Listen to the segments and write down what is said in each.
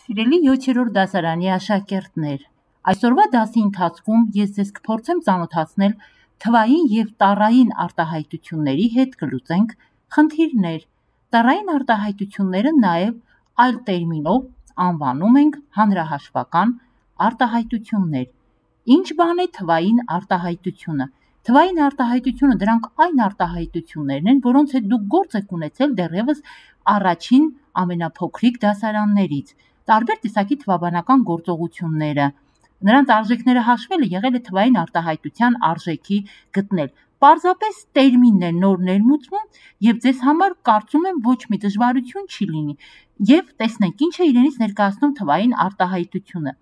Սիրելի 7-րդ դասարանի աշակերտներ, այսօրվա դասի ընթացքում ես ձեզ կփորձեմ ծանոթացնել թվային և տառային արտահայտությունների հետ, կլուծենք խնդիրներ։ Տառային արտահայտությունները նաև այլ տերմինով անվանում ենք հանրահաշվական արտահայտություններ։ Ինչ բան է թվային արտահայտությունը։ Թվային արտահայտությունը դրանք այն արտահայտություններն են, որոնց հետ դուք գործ եք ունեցել դեռևս առաջին ամենափոքրիկ դասարաններից։ Տարբեր տեսակի թվաբանական գործողությունները, նրանց արժեքները հաշվելը եղել է թվային արտահայտության արժեքի գտնել։ Պարզապես տերմինն է նոր ներմուծվում եւ ձեզ համար կարծում եմ ոչ մի դժվարություն չի լինի։ Եվ տեսնենք ինչ է իրենից ներկայացնում թվային արտահայտությունը։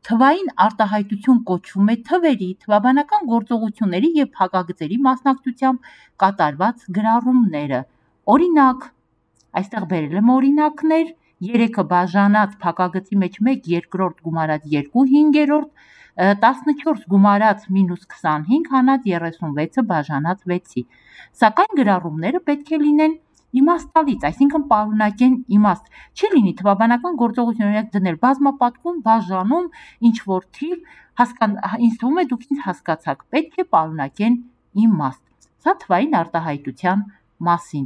Թվային արտահայտություն կոչվում է թվերի, թվաբանական գործողությունների եւ փակագծերի մասնակցությամբ կատարված գրառումները։ Օրինակ, այստեղ բերել եմ օրինակներ. 3-ը բաժանած փակագծի մեջ 1 երկրորդ գումարած 2 հինգերորդ, 14 գումարած մինուս 25 հանած 36-ը բաժանած 6-ի։ Սակայն գրառումները պետք է լինեն իմաստալից, այսինքն պարունակեն իմաստ։ Չի լինի թվաբանական գործողություն օրինակ դնել բազմապատկում, բաժանում, ինչ որ թիվ, ինձ թվում է դուք ինձ հասկացաք, պետք է պարունակեն իմաստ։ Սա թվային արտահայտության մասին։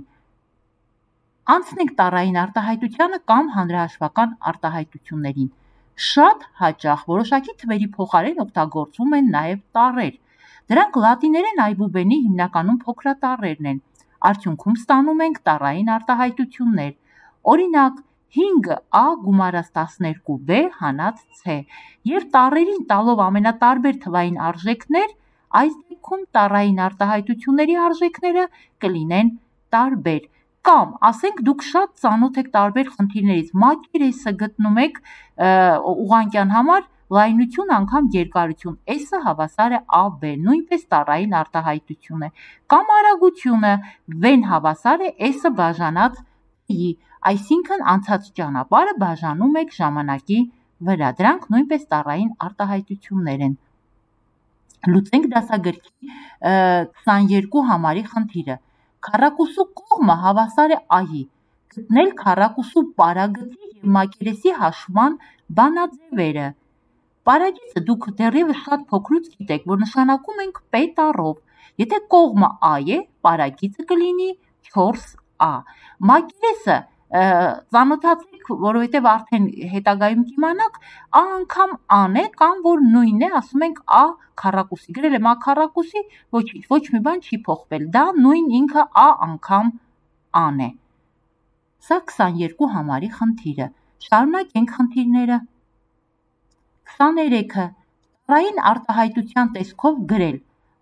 Անցնենք տառային արտահայտությանը կամ հանրահաշվական արտահայտություններին։ Շատ հաճախ որոշակի թվերի փոխարեն օգտագործվում են նաև տառեր։ Դրանք լատիներեն այբուբենի հիմնականում փոքրատառերն են։ Արդյունքում ստանում ենք տառային արտահայտություններ։ Օրինակ 5a գումարած 12b հանած c եւ տառերին տալով ամենատարբեր թվային արժեքներ, այս դեպքում տառային արտահայտությունների արժեքները կլինեն տարբեր։ Կամ ասենք դուք շատ ծանոթ եք տարբեր խնդիրներից, մակերեսը գտնում եք ուղղանկյան համար լայնություն անգամ երկարություն, S-ը հավասար է AB, նույնպես տառային արտահայտություն է։ Կամ արագությունը V-ն հավասար է S-ը բաժանած I, այսինքն անցած ճանապարհը բաժանում եք ժամանակի վրա։ Դրանք նույնպես տառային արտահայտություններ են։ Լուծենք դասագրքի 22 համարի խնդիրը։ Քառակուսու կողմը հավասար է I-ի։ Գտնել քառակուսու պարագծի և մակերեսի հաշվման բանաձևերը։ Պարագիծը դուք դեռևս շատ փոքրուց գիտեք, որ նշանակում ենք P տառով։ Եթե կողմը A է, պարագիծը կլինի 4A։ Մակերեսը ծանոթացեք, որովհետև արդեն հետագայում կիմանաք, A անգամ A-ն է կամ որ նույնն է, ասում ենք A քառակուսի։ Գրել եմ A քառակուսի, ոչ մի բան չի փոխվել։ Դա նույն ինքը A անգամ A-ն է։ Սա 22 համարի խնդիրը։ Շարունակենք խնդիրները։ 23-ը տառային արտահայտության տեսքով գրել։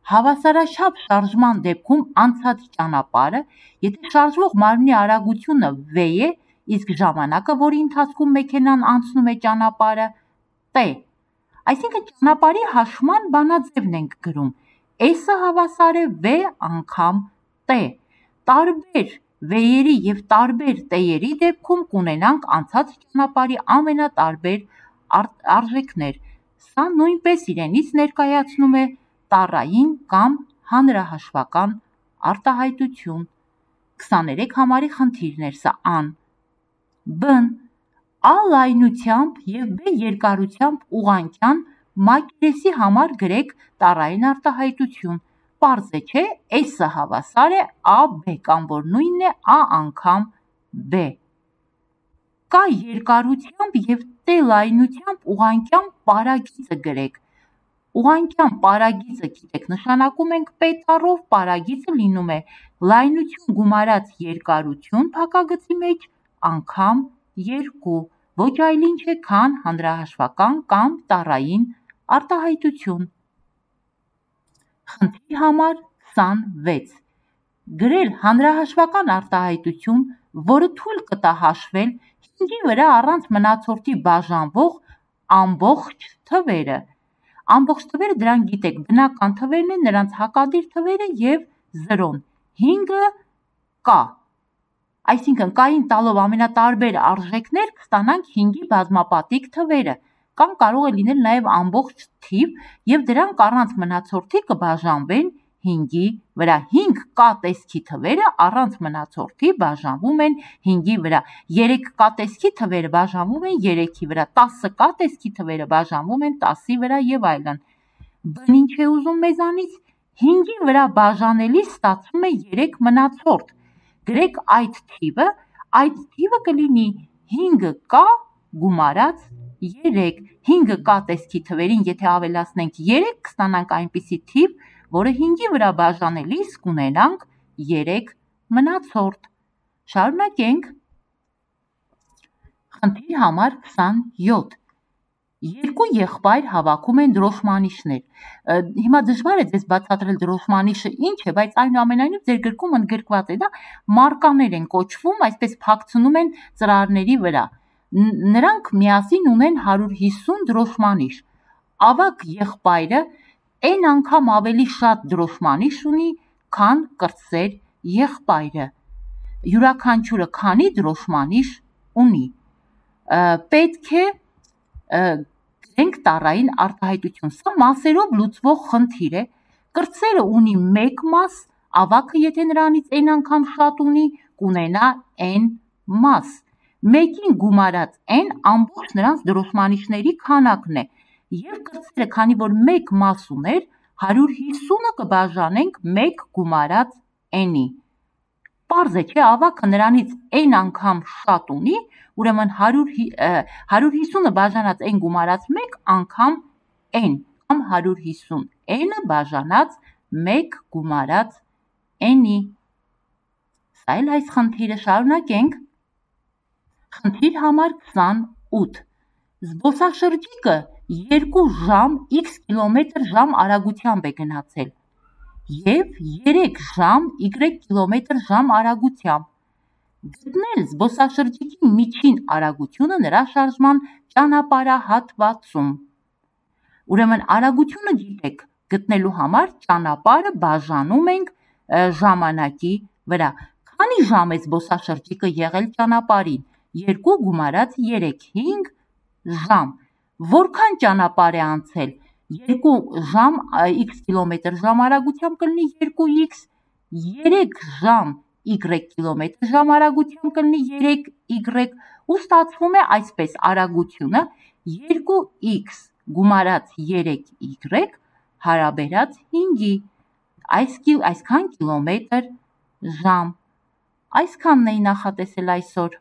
Հավասարաչափ շարժման դեպքում անցած ճանապարհը, եթե շարժվող մարմնի արագությունը v է, իսկ ժամանակը, որի ընթացքում մեքենան անցնում է ճանապարհը, t։ Այսինքն ճանապարհի հաշվման բանաձևն ենք գրում։ S-ը հավասար է v անգամ t։ Տարբեր v-երի և տարբեր t-երի դեպքում կունենանք անցած ճանապարհի ամենատարբեր արժեքներ։ Սա նույնպես իրենից ներկայացնում է տառային կամ հանրահաշվական արտահայտություն։ 23 համարի խնդիրն էր սա ան։ B-ն A լայնությամբ և B երկարությամբ ուղղանկյան մակերեսի համար գրեք տառային արտահայտություն։ Պարզ է, չէ՞, S-ը հավասար է AB կամ որ նույնն է A անգամ B։ K երկարությամբ և T լայնությամբ ուղղանկյան պարագիծը գրեք։ Ուղղանկյան պարագիծը գիտեք, նշանակում ենք P տառով, պարագիծը լինում է լայնություն գումարած երկարություն փակագծի մեջ անգամ 2, ոչ այլ ինչ է, քան հանրահաշվական կամ տառային արտահայտություն։ Խնդիր համար 26. Գրել հանրահաշվական արտահայտություն, որը թույլ կտա հաշվել 5-ի վրա առանց մնացորդի բաժանվող ամբողջ թվերը։ Ամբողջ թվերը դրանք գիտեք, բնական թվերն են, նրանց հակադիր թվերը և 0-ն։ 5-ը K։ Այսինքն K-ին տալով ամենատարբեր արժեքներ կստանանք 5-ի բազմապատիկ թվերը, կամ կարող է լինել նաև ամբողջ թիվ, և դրանք առանց մնացորդի կբաժանվեն 5-ի վրա 5 K տեսքի թվերը առանց մնացորդի բաժանվում են 5-ի վրա, 3 K տեսքի թվերը բաժանվում են 3-ի վրա, 10 K տեսքի թվերը բաժանվում են 10-ի վրա եւ այլն։ Բն ինչ է ուզում մեզանից 5-ի վրա բաժանելիս ստացվում է 3 մնացորդ։ Գրեք այդ թիվը կլինի 5K գումարած 3, 5K տեսքի թվերին եթե ավելացնենք 3 կստանանք այնպիսի թիվ, որը 5-ի վրա բաժանելիս կունենանք 3 մնացորդ։ Շարունակենք։ Խնդիր համար 27։ Երկու եղբայր հավաքում են դրոշմանիշներ։ Հիմա դժվար է ձեզ բացատրել դրոշմանիշը ինչ է, բայց այնուամենայնիվ ձեր գրքում ընդգրկված է դա, մարկաներ են կոչվում, այսպես փակցնում են ծրարների վրա։ Նրանք միասին ունեն 150 դրոշմանիշ։ Ավագ եղբայրը n անգամ ավելի շատ դրոշմանիշ ունի, քան կրտսեր եղբայրը։ Յուրաքանչյուրը քանի դրոշմանիշ ունի։ Պետք է գրենք տառային արտահայտություն։ Սա մասերով լուծվող խնդիր է։ Կրտսերը ունի 1 մաս, ավագը եթե նրանից n անգամ շատ ունի, կունենա n մաս։ 1-ին գումարած n ամբողջ նրանց դրոշմանիշների քանակն է։ Եվ կրտսերը, քանի որ 1 մաս ուներ, 150-ը կբաժանենք 1 գումարած n-ի։ Պարզ է, չէ, ավագը նրանից n անգամ շատ ունի, ուրեմն 150-ը բաժանած n գումարած 1 անգամ n, կամ 150 n-ը բաժանած 1 գումարած n-ի։ Սա էլ այս խնդիրը, շարունակենք։ Խնդիր համար 28։ Զբոսաշրջիկը 2 ժամ x կմ/ժ արագությամբ է գնացել և 3 ժամ y կմ/ժ արագությամբ։ Գտնել զբոսաշրջիկի միջին արագությունը նրա շարժման ճանապարհահատվածում։ Ուրեմն արագությունը գիտեք, գտնելու համար ճանապարհը բաժանում ենք ժամանակի վրա։ Քանի ժամ է զբոսաշրջիկը եղել ճանապարհին։ 2 գումարած 3, 5 ժամ։ Որքան ճանապարհ է անցել։ 2 ժամ x կմ/ժ արագությամբ կլինի 2x, 3 ժամ y կմ/ժ արագությամբ կլինի 3y, ու ստացվում է այսպես արագությունը 2x գումարած 3y հարաբերած 5-ի, այսքան կիլոմետր ժամ։ Այսքանն էի նախատեսել այսօր։